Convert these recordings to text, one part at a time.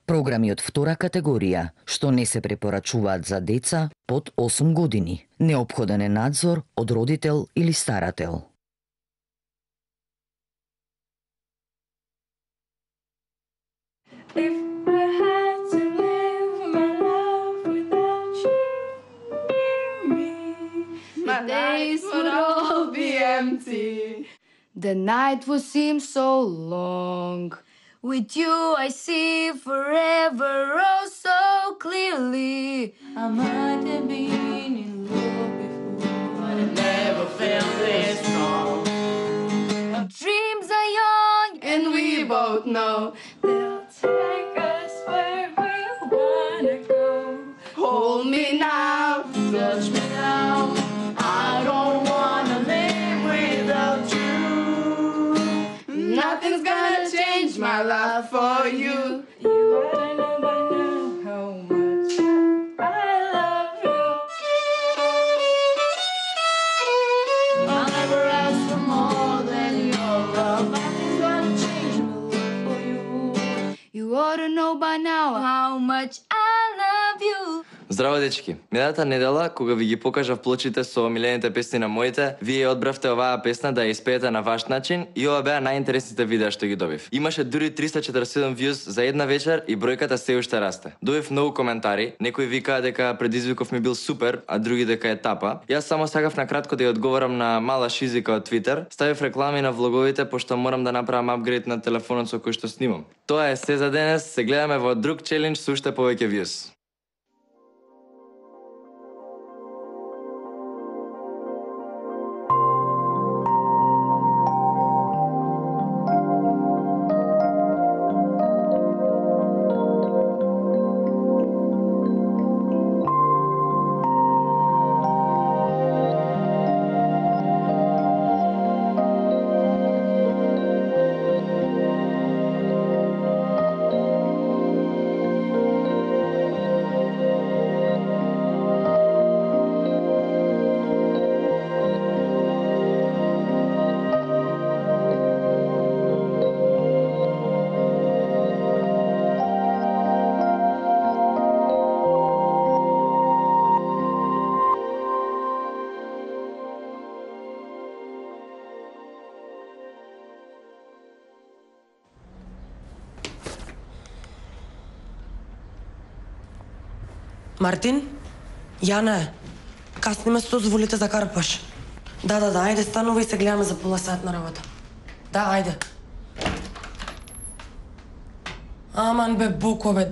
Програми од втора категорија, што не се препорачуваат за деца под 8 години. Неопходен е надзор од родител или старател. My days would all be empty. The night would seem so long. With you I see forever oh so clearly. I might have been in love before, but I never felt this strong. Our dreams are young and we both know they'll take us where we wanna go. Hold me now, touch me now. I don't wanna live without you. Nothing's gonna change my love for you. You oughta know by now how much I love you. I'll never ask for more than your love. Nothing's gonna change my love for you. You oughta know by now how much I love you. Здраво, дечки! Минатата недела, кога ви ги покажав плочите со омилените песни на моите, вие одбравте оваа песна да ја испеете на ваш начин и ова беа најинтересните видеа што ги добив. Имаше дури 347 views за една вечер и бројката се уште расте. Добив многу коментари, некои викаа дека предизвиков ми бил супер, а други дека е тапа. Јас само сакав на кратко да ја одговорам на мала шизика од Twitter, ставив реклами на влоговите пошто морам да направам апгрейд на телефонот со кој што снимам. Тоа е се за денес, се гледаме во друг челендж со уште повеќе views. Мартин? Јана е. Касни ме со дозволите за карпаш. Да, ајде станува и се гледаме за пола сат на работа. Да, ајде. Аман бе, Боко бе.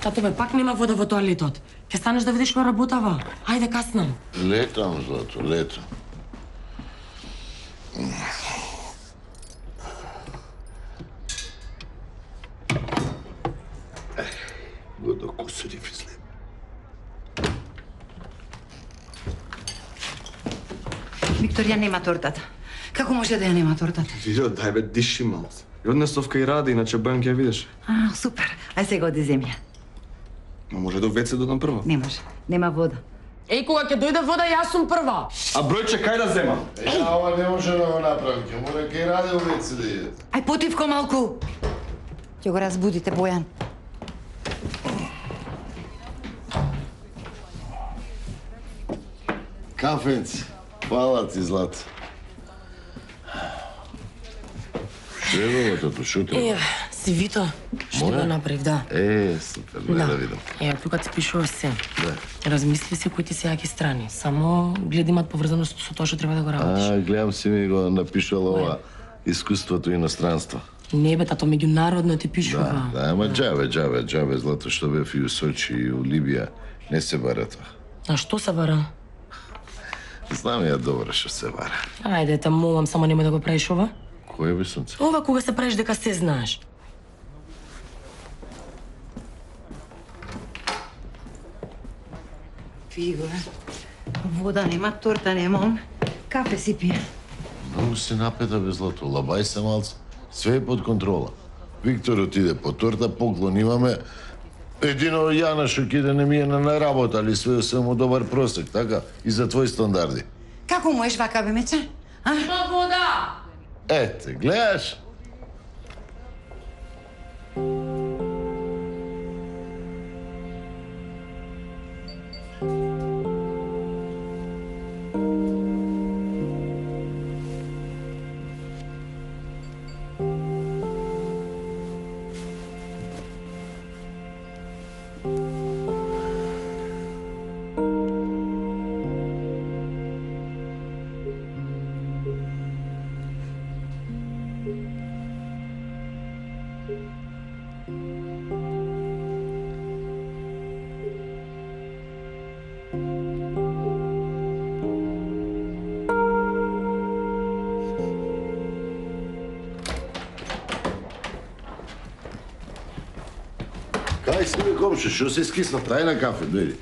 Тато бе, пак нема вода во тоалетот. Ќе станеш да видиш кој работава. Ајде, каснам. Летам, Злато, летам. Го докусури физле. Викторија нема тортата. Како може да ја нема тортата? Вио, дај бе, диши мало. И однесовка и ради, иначе бајам ќе ја видиш. Супер. Ај сега оди земја. Но може да веце додам прво. Не може. Нема вода. Еј, кога ќе дојде вода, јас сум прва. А бројче кај да земам? Ова не може да го направи, ќе мора кај раде увеце да иде. Ај потивко малку. Ќе го разбудите, Бојан. Кафенци, фала ти, Злато. Треба тато, шо треба? Си Вито, што го направив, да. Супер, да видам. Тука ти пишува се. Да. Размисли се кои ти се јаки страни. Само гледа имат поврзаност со тоа што треба да го работиш. Гледам си ми го напишала ова искуството иностранство. Не бе, тато, меѓународно ти пишува. Да, ама џабе, Злато, што бев и у Сочи и у Либија, не се бара тоа. А што се бара? Знам ја добро што се вара. Ајде, те молам, само нема да го правиш ова. Кој би сонце? Ова кога се правиш дека се знаеш. Фиго, вода нема, торта нема, кафе си пие. Многу си напета бе злато, лабај се малце. Све е под контрола. Виктор отиде по торта, поклон имаме. Едино Јана што ќе иде не ми е на работа, али све му добар просек, така? И за твои стандарди. Како можеш вака, бе, мече? А? Има вода! Ете, гледаш? Кај си бе комшо, што се скисна? Тај на кафе, дојди.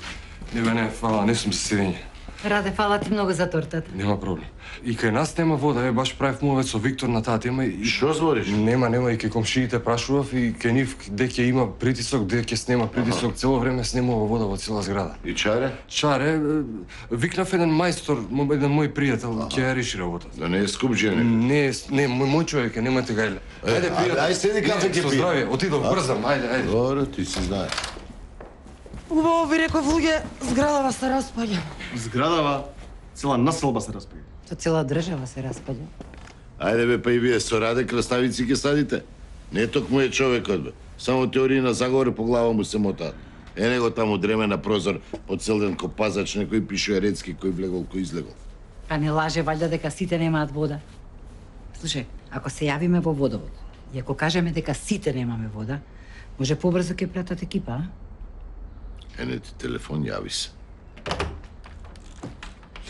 Не бе, не, фала, не сум се седење. Раде, фала ти многу за тортата. Нема проблем. И кај нас нема вода, баш правив мовет со Виктор на таа тема и... Што збориш? Нема, и кај комшиите прашував и кај нив де ќе има притисок, де ќе снема притисок, цело време снемува вода во цела зграда. И чаре? Чаре, викнав еден мајстор, еден мој пријател, ќе ја реши работата. Да не е скуп жене. Не, мој човек е, немате гајле. Ајде, пријател. Ајде, седи кафе ќе Со пије. здравје, отидов, брзам, ајде. Добро, ти си знаеш. Убаво ви реков, луѓе, зградава се распаѓа. Зградава, цела населба се распаѓа. То цела држава се распаѓа. Ајде бе, па и вие со Раде краставици ќе садите. Не токму е човекот бе. Само теории на заговор по глава му се мотаат. Е него таму дреме на прозор, по цел ден ко пазач, некој пишува рецки, кој влегол, кој излегол. Па не лаже валјда дека сите немаат вода. Слушај, ако се јавиме во водовод и ако кажеме дека сите немаме вода, може побрзо ќе пратат екипа, а? Ене ти телефон, јави се.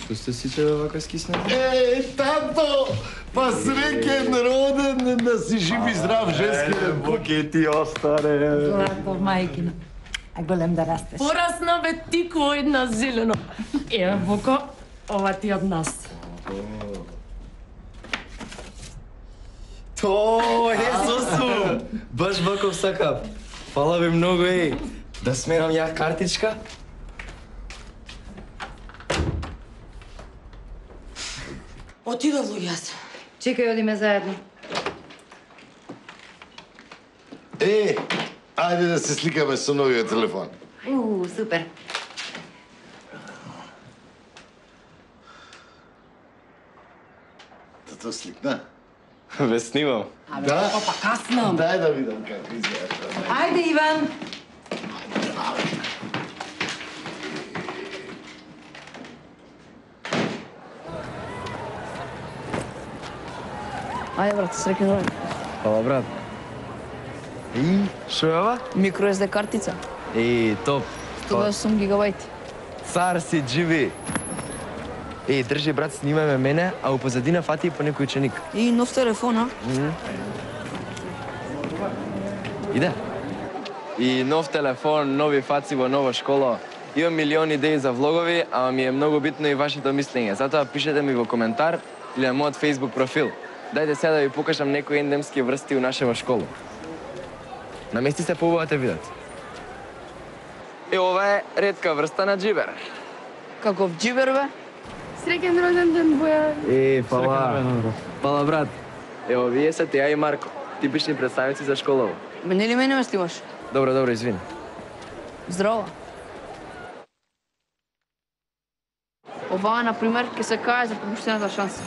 Што сте сите бе вака скиснати? Тато! Па среќен роден, да си жив и здрав, женски. Боке ти остаре. Злато, мајкина. А голем да растеш. Порасна бе тико една зелено. Еве, Боко, ова ти од нас. То, Езосу! Баш ваков сакав. Фала ви многу, еј. Да смерам ја картичка? Отидов, луѓе, јас. Чекај, одиме заедно. Ајде да се сликаме со новиот телефон. Супер. Тато сликна? Ве снимам. Да? Опа, касно. Дај да видам како изгледа. Ајде, Иван. Ајде, брат, среќен роден. Фала, брат. И, шо е ова? Микро SD картица. Топ. 108 гигабајти. Цар си живи. Држи, брат, снимај ме мене, а у позадина фати и по некој ученик. И нов телефон, а? Иде. И нов телефон, нови фаци во нова школа. Имам милиони идеи за влогови, ама ми е многу битно и вашето мислење. Затоа пишете ми во коментар или на мојот Facebook профил. Дајте сега да ви покажам некои ендемски врсти у нашава школа. Намести се поубаво те видат. Ова е ретка врста на џибер. Каков џибер, бе? Среќен роден ден, Боја. Фала. Фала, брат. Вие се Теја и Марко. Типични представници за школава. Мене ли мене ме снимаш? Добро, извини. Здраво. Ова, например, ќе се кае за пропуштената шанса.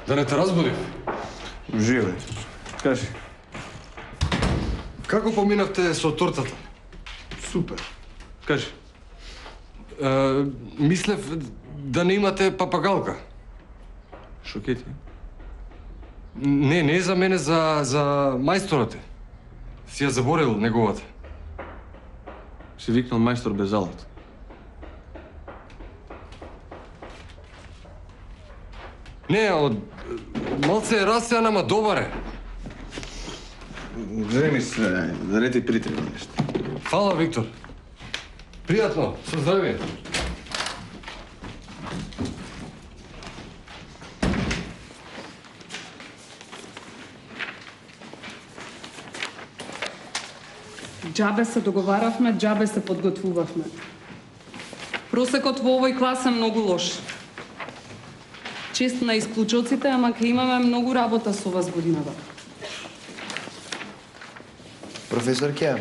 Да не те разбудив? Живе. Кажи. Како поминавте со тортата? Супер. Кажи. Мислев да не имате папагалка. Шо ке ти? Не за мене, за мајсторот. Си ја заборил неговата. Си викнал мајстор без алат. Не, од малце е расеан, ама добар е. Земи се, да не ти притреба нешто. Фала, Виктор. Пријатно, со здравие. Џабе се договаравме, џабе се подготвувавме. Просекот во овој клас е многу лош. Чест на исклучоците, ама ќе имаме многу работа со вас годината. Професор Ке,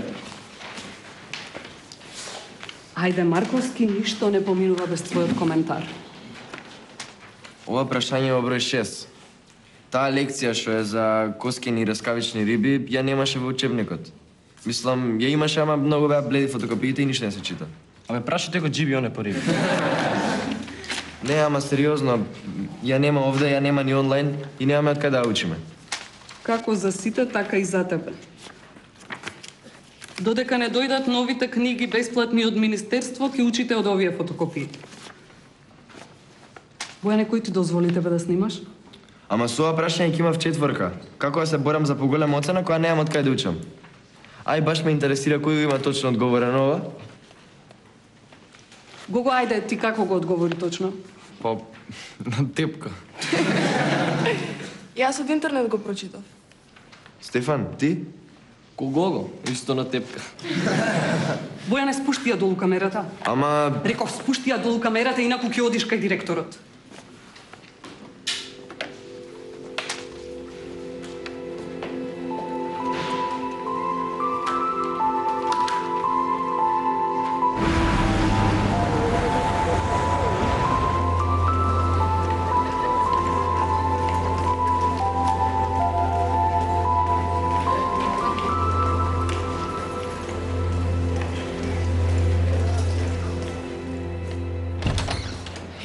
Ајде, Марковски, ништо не поминува без твојот коментар. ова прашање во број 6. Таа лекција што е за коскени и раскавични риби, ја немаше во учебникот. Мислам, ја имаше, ама многу беа бледи фотокопиите и ништо не се чита. Абе, прашите го Джиби, он е по риби. Не, ама сериозно, ја нема овде, ја нема ни онлайн и немаме од кај да учиме. Како за сите, така и за тебе. Додека не дојдат новите книги бесплатни од Министерство, ќе учите од овие фотокопии. Бојане, кој ти дозволи тебе да снимаш? Ама со ова прашање ќе имав 4. Како да се борам за поголема оцена која немам од кај да учам? Ај, баш ме интересира кој има точно одговорено ова. Гого, ајде, ти како го одговори точно? Па, на тепка. Јас од интернет го прочитав. Стефан, ти? Кого? Исто на тепка. Бојане, спушти ја долу камерата. Ама... Реков, спушти ја долу камерата, инаку ќе одиш кај директорот.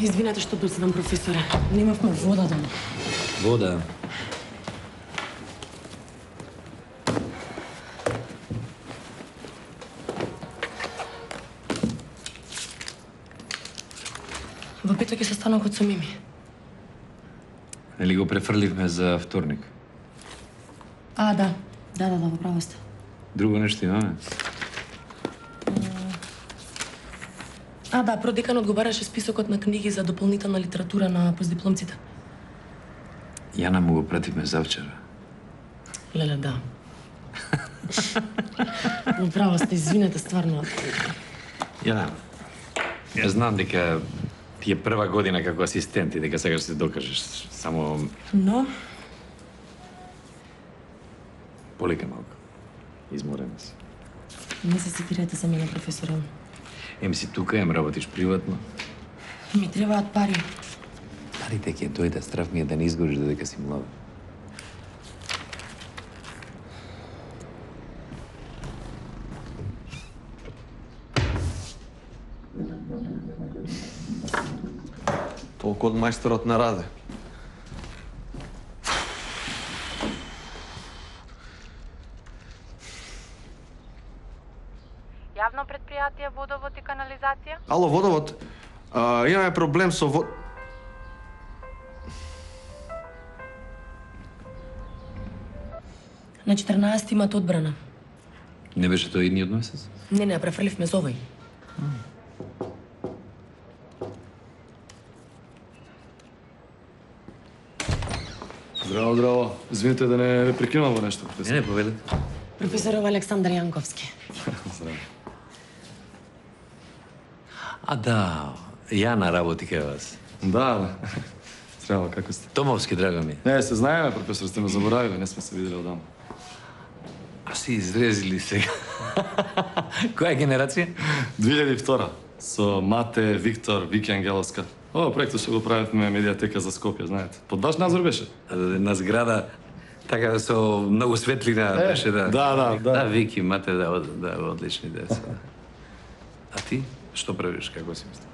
Извинете што доцедам, професоре. Немавме вода дома. Вода? Во петок ќе се станокот со Мими. Нели го префрливме за вторник? А, да. Да, во право сте. Друго нешто имаме? А, да, продеканот го бараше списокот на книги за дополнителна литература на постдипломците. Јана му го пративме завчера. Леле, да. Во право сте, извинете, стварно. Јана, ја знам дека ти е прва година како асистент и дека сакаш да се докажеш. Само Но? полека малку. Изморена си. Не се секирате за мене, професоре. Ем си тука, ем работиш приватно. Ми требаат пари. Парите ќе дојде, страв ми е да не изгориш додека си млада. Толку од мајсторот на Раде. Јавно предпријатие Водовод и канализација? Ало, Водовод, имаме проблем со На 14 имат одбрана. Не беше тој идниот месец? Не, префрливме за овој. Здраво, здраво. Извините да не ве прекинувам во нешто. Не, поведе. Професоров Александар Јанковски. Здраво. А да, Јана работи кај вас. Да. Здраво, како сте? Томовски, драго ми. Не, се знаеме, професор, сте ме заборавиле, не сме се видели одамна. А си изрезили сега. Која генерација? 2002. Со Мате, Виктор, Вики Ангеловска. Ова проектот што го правевме медиатека за Скопје, знаете. Под ваш надзор беше? На зграда, така со многу светлина беше, да. Да. Да, Вики, мате, да, одлични деца. А ти, што правиш, како си мисли?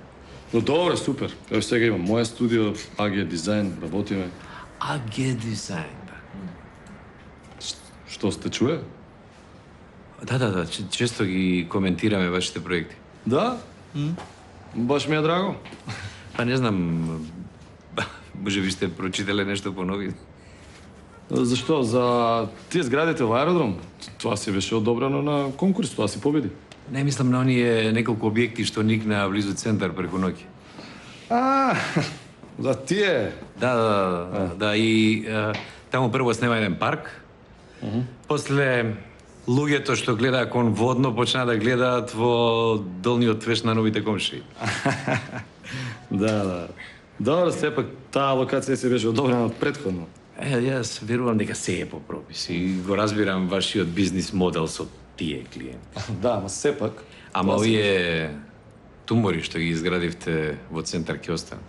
Но добре, супер. Ево сега имам моја студио, AG Дизајн, работиме. AG Дизајн, да. Што сте чуе? Да, често ги коментираме вашите проекти. Да? Баш ми е драго. Па не знам, може би сте прочитале нешто по нови. Зашто? За тие зградите во аеродром? Тоа си беше одобрено на конкурс, тоа си победи. Не мислам на оние неколку објекти што никна близу центар преку ноќ. За тие? Да, и таму прво снема еден парк, после луѓето што глеdaa кон водно почна да гледаат во долниот твеш на новите комшии. Да. Добро, сепак таа локација се беше одобрена предходно. Јас верувам дека се е по пропис и го разбирам вашиот бизнис модел со тие клиенти. Да, ама сепак... Ама овие тумори што ги изградивте во центар ќе останат.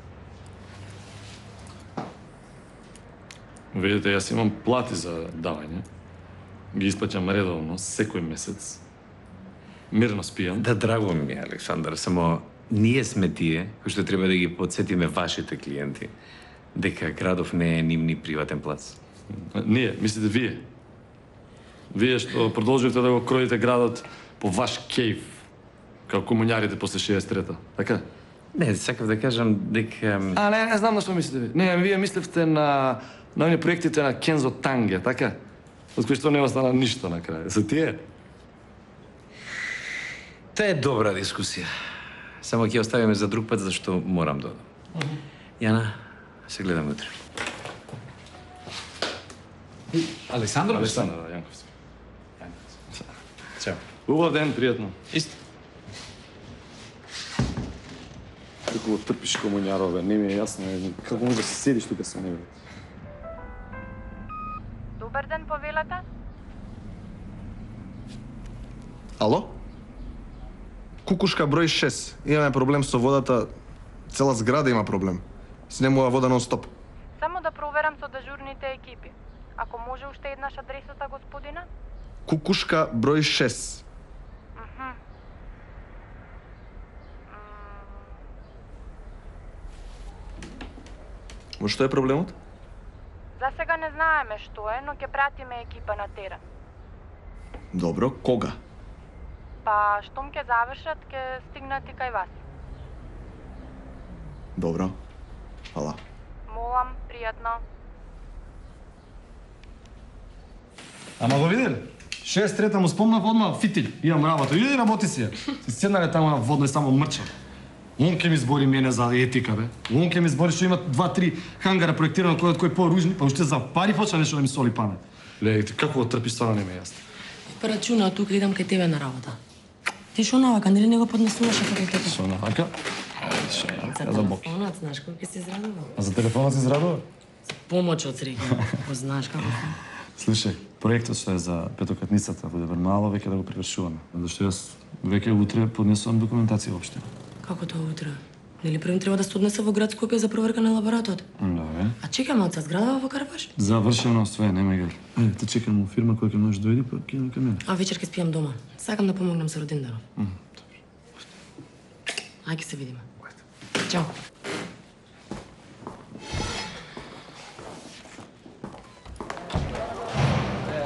Видите, јас имам плати за давање. Ги исплаќам редовно, секој месец. Мирно спијам. Да, драго ми е, Александар, само ние сме тие кои што треба да ги подсетиме вашите клиенти дека градов не е нивни приватен плац. Ние, мислите вие? Вие што продолживте да го кроите градот по ваш кејф, како комуњарите после 63-та, така? Не, сакав да кажам дека... Не знам на што мислите ви. Не, вие мисливте на оние проектите на Кензо Танге, така? Од кои што не остана ништо на крај. Со тие? Тоа е добра дискусија. Само ќе оставиме за друг пат, зашто морам да одам. Јана, се гледаме утре. Александро? Александро, Јанковски. Чао. Убав ден, пријатно. Исто. Како го трпиш комуњарове, не ми е јасно. Како може да се седиш тука со него? Добар ден, повелата. Ало? Кукушка број 6. Имаме проблем со водата. Цела зграда има проблем. Снемува вода нон-стоп. Само да проверам со дежурните екипи. Ако може уште еднаш адресата, господина? Кукушка број 6. Во што е проблемот? За сега не знаеме што е, но ќе пратиме екипа на терен. Добро, кога? Па, штом ќе завршат, ќе стигнат и кај вас. Добро. Фала. Молам, пријатно. Ама го виделе? 63-та му спомнав одма фитил. Имам работа. Иди работи си ја. Си седнале таму на водно и само мрча. Он ќе ми збори мене за етика, бе. Он ќе ми збори што има 2-3 хангара проектирано кој поружни, па уште за пари почна нешто да ми соли памет. Ле, ти како го трпиш, стварно не ме јасно. Па рачуна, тука идам кај тебе на работа. Ти шо навака, нели не го поднесуваш кај тебе? Шо навака? За телефонот, знаеш кој ќе се израдува? А за телефонот се израдува? Помоќ од среќа. Знаеш како? Слушај, проектот што е за петокатницата во Дебермало веќе да го привршуваме. Зашто јас веќе утре поднесувам документација воопште. Како тоа утре? Нели првим треба да се однесе во град Скопје за проверка на лабораторот? Да, бе. А чекаме од зградава во Карпаш? Завршено све, нема гар. Те чекам во фирма која ќе можеш дојди, па ќе на мене. А вечер ќе спијам дома. Сакам да помогнам со роденденов. Ајде се видиме. Чао.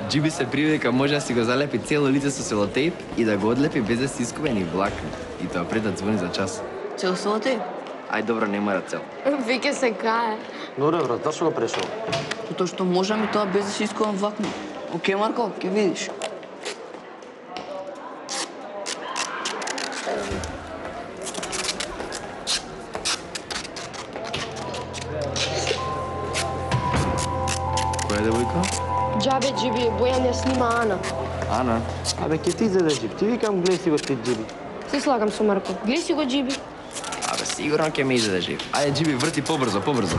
Джиби се привика може да си го залепи цело лице со селотейп и да го одлепи без да си искува ни влакни. И тоа пред да звони за час. Цел селотейп? Ај добро, не мора цел. Веќе се кае. Добре, брат, зашто го прешол? Тоа што можам и тоа без да си искувам влакно. Океј, Марко, ќе видиш. Која девојка? Џабе, Джиби, Бојан ја снима Ана. Ана? Абе, ке ти заде Джиби. Ти викам, гледай си го ти Джиби. Се слагам со Марко. Гледај си го, Джиби. Абе, сигурно ќе ме изеде жив. Ајде, Джиби, врти побрзо, побрзо.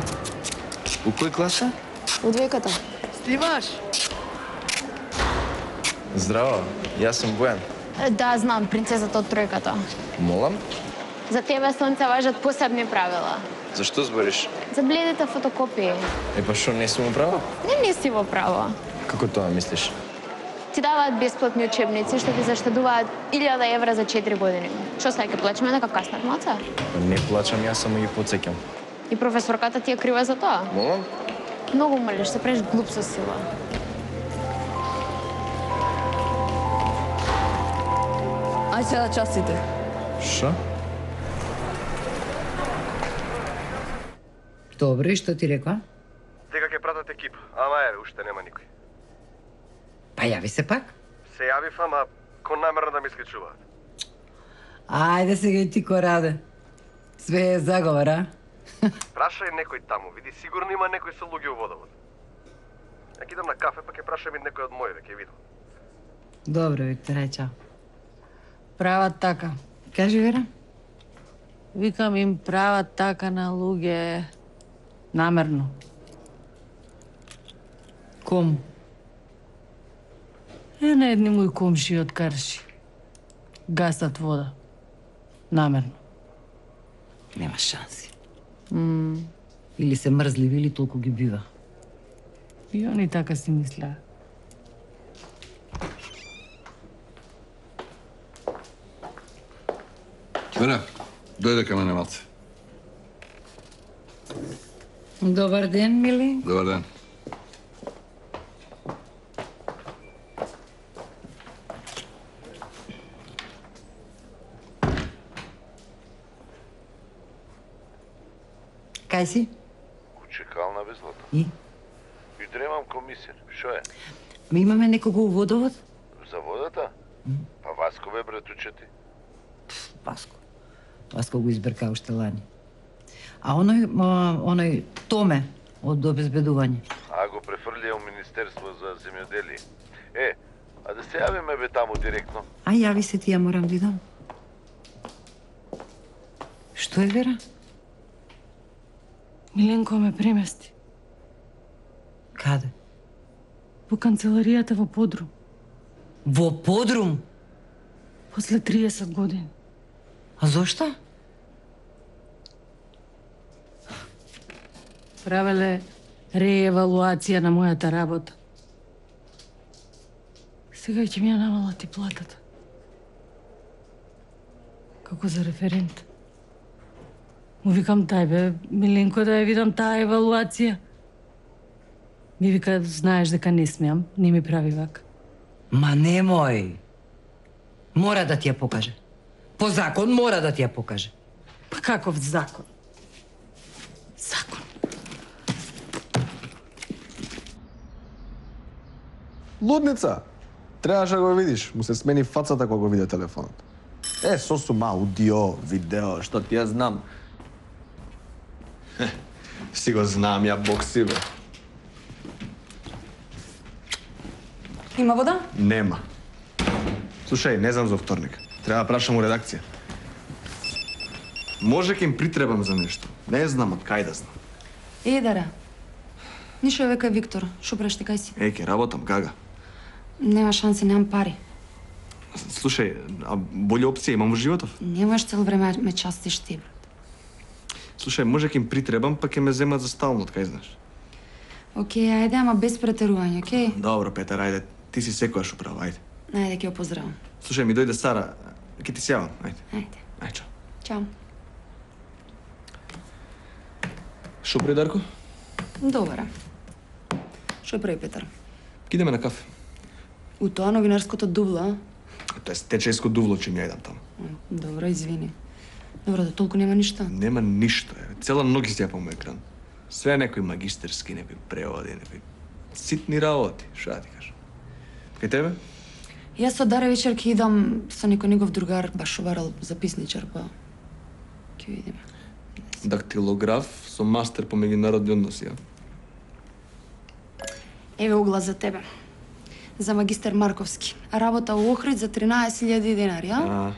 У кој класа? У двојката. Снимаш? Здраво, јас сум Бојан. Да, знам, принцесата од тројката. Молам? За тебе, Слонце, важат посебни правила. Зашто збориш? За бледите фотокопии. Па што, не сум управа? Не си во право. Како тоа мислиш? Ти даваат бесплатни учебници што ти заштедуваат 1000 евра за 4 години. Што сега ќе плачеме нека каснат маца? Не плачам, јас само ги потсеќам. И професорката ти е крива за тоа? Молам? Многу молиш, се правиш глуп со сила. Ај сега частите. Шо? Добро, и што ти рекла? Дека ќе пратат екип, ама еве, уште нема никој. Па јави се пак. Се јавив, ама кон намерно да ме исклучуваат. Ајде сега и ти ко раде. Све е заговор, а? Прашај некој таму, види, сигурно има некој со луѓе во водовод. Ја идам на кафе, па ќе прашам и некој од моите, ќе видам. Добро, Виктор, ај чао. Прават така. Кажи, Вера. Викам им прават така на луѓе. Намерно. Кому? На едни мои комши од Карши. Гасат вода. Намерно. Нема шанси. Или се мрзливи, или толку ги бива. И они така си мислеа. Вера, дојде кај мене малце. Добар ден, мили. Добар ден. Кај си? Чекална без злато. И? И дремам комисија. Шо е? Ме имаме некого у водовод? За водата? Па Васко бе братуче ти. Васко го избрка уште лани. А оној Томе од обезбедување. А го префрлија у Министерство за земјоделие. А да се јавиме бе таму директно. А јави се ти, ја морам да идам. Што е, Вера? Миленко ме премести. Каде? Во канцеларијата во Подрум. Во Подрум? После 30 години. А зошто? Правеле реевалуација на мојата работа. Сега ќе ми ја намалат и платата. Како за референт. Му викам тај бе, Миленко, да ја видам таа евалуација. Ми вика, знаеш дека не смеам, не ми прави вака. Ма немој. Мора да ти ја покаже. По закон мора да ти ја покаже. Па каков закон? Закон. Лудница! Требаше да го видиш, му се смени фацата кога го виде телефонот. Сосума, аудио, видео, што ти ја знам. Си го знам, ја бог си, бе. Има вода? Нема. Слушај, не знам за вторник. Треба да прашам у редакција. Може ке им притребам за нешто. Не знам од кај да знам. Дара. Нишо века Виктор. Шо прешти, кај си? Ке работам, гага. Нема шанси, немам пари. Слушај, а болја опција имам во животов? Немаш цел време ме частиш ти, брат. Слушај, може ке им притребам, па ке ме земат за стално, кај знаеш. Океј, ајде, ама без претерување, океј? Добро, Петар, ајде. Ти си секојаш управа, ајде. Ајде, ќе ја поздравам. Слушај, ми дојде Сара. Ке ти се јавам, ајде. Ајде. Ајде, чао. Чао. Шо прави Дарко? Добра. Шо прави Петар? Идеме на кафе. У тоа новинарското дувла? Тоа е течејско дувло, че ми ја идам таму. Добро, извини. Добро, да толку нема ништо? Нема ништо, е. Цела ноќ си јапам екран. Све некои магистерски, некои преводи, некои ситни работи, шо да ти кажам. Кај тебе? Јас со Даре вечер ќе идам со некој негов другар, баш обарал записничар, па ќе видиме. Дактилограф со мастер по меѓународни односи, ја? Еве угла за тебе. За магистер Марковски. Работа у Охрид за 13.000 денари, а?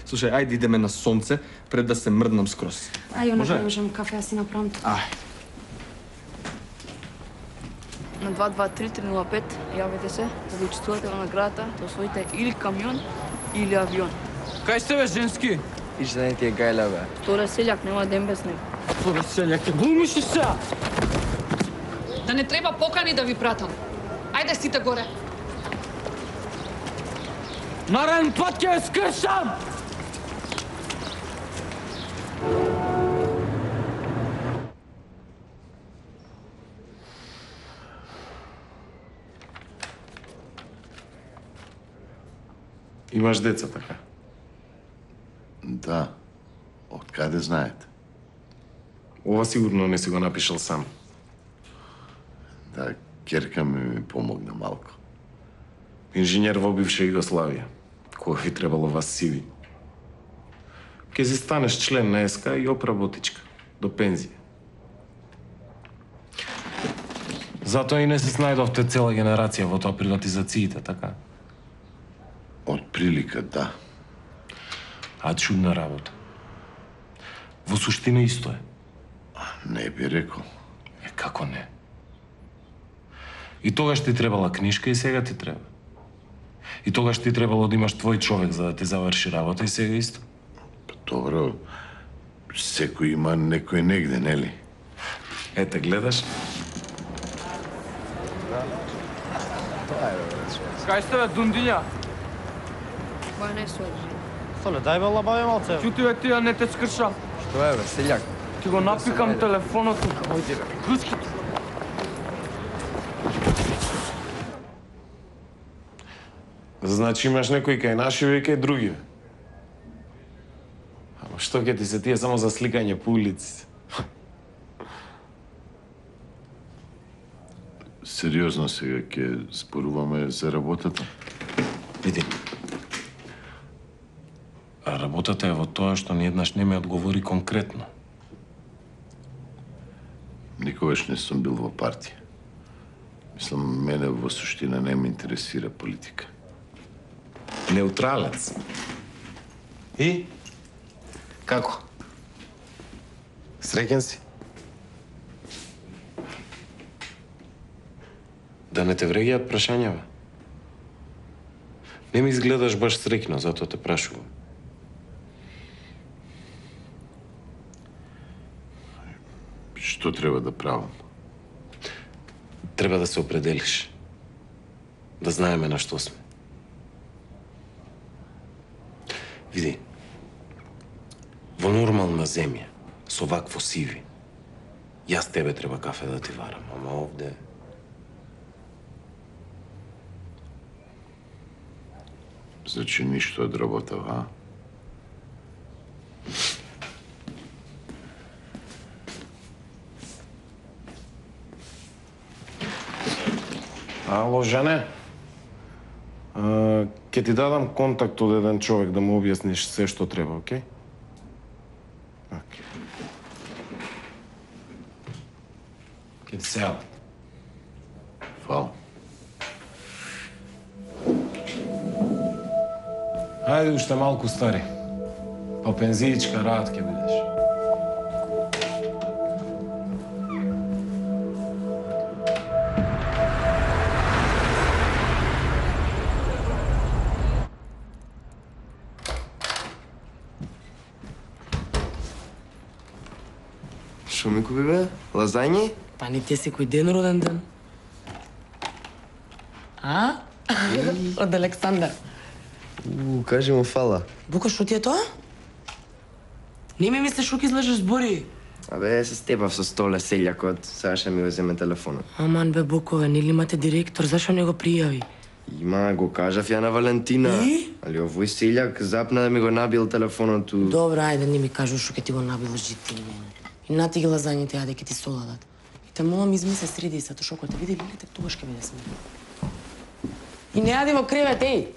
Слушај, ајде идеме на сонце пред да се мрднам скроз. Ај, Може? можам кафе, јас си направам тоа. Ај. На 223-305 јавете се да учествувате во наградата, да освоите или камион или авион. Кај сте бе, женски? Иш да не ти е гајля, бе. Вторе селјак, нема ден без него. Господи, селјак, глумиш ли се? Да не треба покани да ви пратам. Ајде сите горе. Нареден пат ќе ја скршам! Имаш деца, така? Да. Од каде знаете? Ова сигурно не си го напишал сам. Да, керка ми помогна малку. Инженер во бивша Југославија. Кога ви требало вас сиви. Ке си станеш член на СК и опработичка. До пензија. Затоа и не се снајдовте цела генерација во тоа приватизациите, така? Од прилика, да. А чудна работа. Во суштина исто е. Не би рекол. Како не? И тогаш ти требала книжка и сега ти треба. И тогаш ти требало да имаш твој човек за да ти заврши работа и сега исто. Добро, секој има некој негде, нели? Ете, гледаш? Кај сте, бе, дундиња? Која не служи. Соле, дај бе лабаве малце. Чути бе, ти не те скршам. Што е, бе, селјак? Ти го напикам телефонот тука. Ојде, бе, грчки тука. Значи имаш некој кај наши и кај други. Ама што ќе ти се тие само за сликање по улиците? Сериозно сега ќе споруваме за работата? Види. А работата е во тоа што ниеднаш не ме одговори конкретно. Никогаш не сум бил во партија. Мислам, мене во суштина не ме интересира политика. Неутралец. И? Како? Среќен си? Да не те вреѓаат прашањава? Не ми изгледаш баш среќно, затоа те прашувам. Што треба да правам? Треба да се определиш. Да знаеме на што сме. Види, во нормална земја, со вакво сиви, јас тебе треба кафе да ти варам, ама овде... Значи ништо од работава, а? Ало, Жане? Ке ти дадам контакт од еден човек да му објасниш се што треба, окей? Окей. Ке ти се јавам. Фала. Ајде уште малку стари. Па пензиичка рад ке бидеш. Шо ми купи, бе? Лазањи? Па не ти е секој ден роден ден. А? Од Александар. Кажи му фала. Бука, шо ти е тоа? Не ми мислиш што ќе излежеш збори. Абе, се степав со столе селјакот, сега ќе ми го земе телефонот. Аман бе, Букове, нели имате директор, зашо не го пријави? Има, го кажав ја на Валентина. И? Али овој селјак запна да ми го набил телефонот у... Добра, ајде, не ми кажу што ќе ти го набил жити мене. И нати ги лазањите, ајде, ќе ти соладат. И те молам, измисли среди се, што кога те види лилите, тогаш ќе биде сме. И не јади во кревет, еј!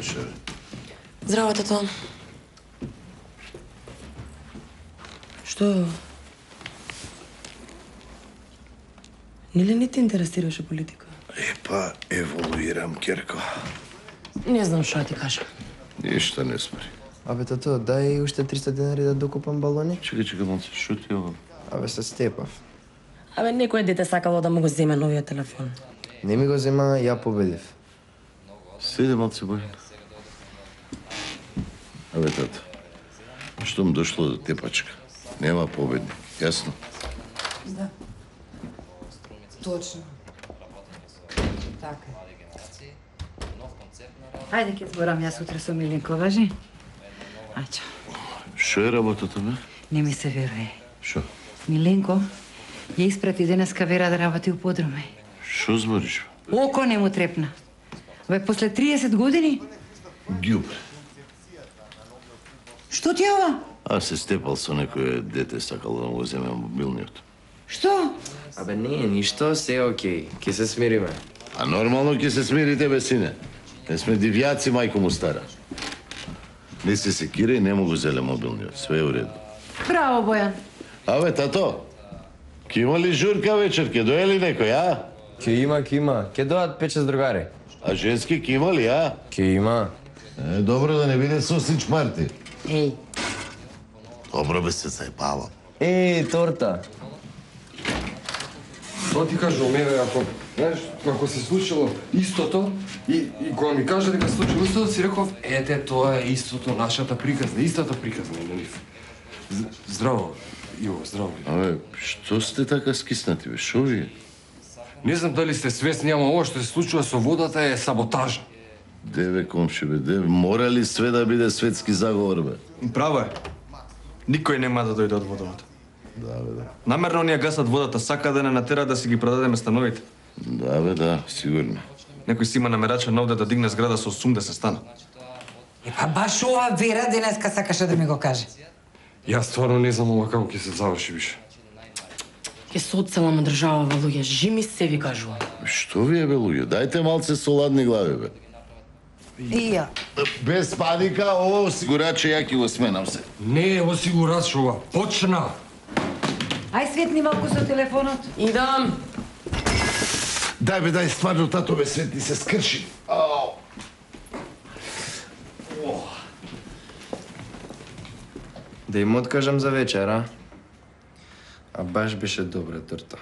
вечер. Здраво, тато. Што е ова? Нели не те интересираше политика? Епа, еволуирам, Керко. Не знам што ти кажа. Ништо не спори. Абе, тато, дај уште 300 денари да докупам балони. Чекај, малце, што ти е ова? Абе, се степав. Абе, некој дете сакало да му го земе новиот телефон. Не ми го зема, ја победив. Седе малце, Бојан. Абе, тато, штом дошло до тепачка, нема победник, јасно? Да. Точно. Така. Ајде ќе зборам јас утре со Милинко, важи? Ајчо. Што е работата, бе? Не ми се веруе. Што? Миленко ја испрати денеска Вера да работи у подруми. Што збориш? Око не му трепна. Бе, после 30 години? Ѓубре. Што ти е ова? Аз се степал со некој дете сакало да му го земе мобилниот. Што? Абе, не е ништо, се е окей. Ке се смириме. А нормално ќе се смирите, бе, сине. Не сме дивјаци, мајко му стара. Не се секира и не му го зеле мобилниот. Све е уредно. Браво, Бојан. Абе, тато, ке има ли журка вечер? Ке дое ли некој, а? Ке има. Ке дојат 5-6 другари. А женски ке има ли, а? Ке има. Добро да не биде сосич парти. Еј. Добро бе се зајбавам. Торта. Тоа ти кажувам, еве, знаеш, ако се случило истото и кога ми кажа дека се случило истото, си реков, ете, тоа е истото, нашата приказна, истата приказна на нив. Здраво, Иво, здраво. Абе, што сте така скиснати, бе? Шо ви е? Не знам дали сте свесни, ама ова што се случува со водата е саботажа. Деве, комши, бе, деве, мора ли све да биде светски заговор, бе? Право е. Никој нема да дојде од водовод. Да, бе, да. Намерно ние гасат водата, сака да не натера да си ги продадеме становите. Да, бе, да, сигурно. Некој си има намерачен овде да дигне зграда со 80 стана. Па баш ова Вера денеска сакаше да ми го каже. Јас стварно не знам ова како ќе се заврши више. Ке се одселам од држава, луѓе, жими се ви кажувам. Што ви е, бе, луѓе? Дајте малце со ладни глави, бе. И ја. Без паника, ово осигураче, ја ќе го сменам се. Не е осигурач ова, почна! Ај светни малку со телефонот. Идам. Дај, бе, дај, стварно, тато, бе, светни се скрши. Ау! Да им откажам за вечер, а? А баш беше добра торта.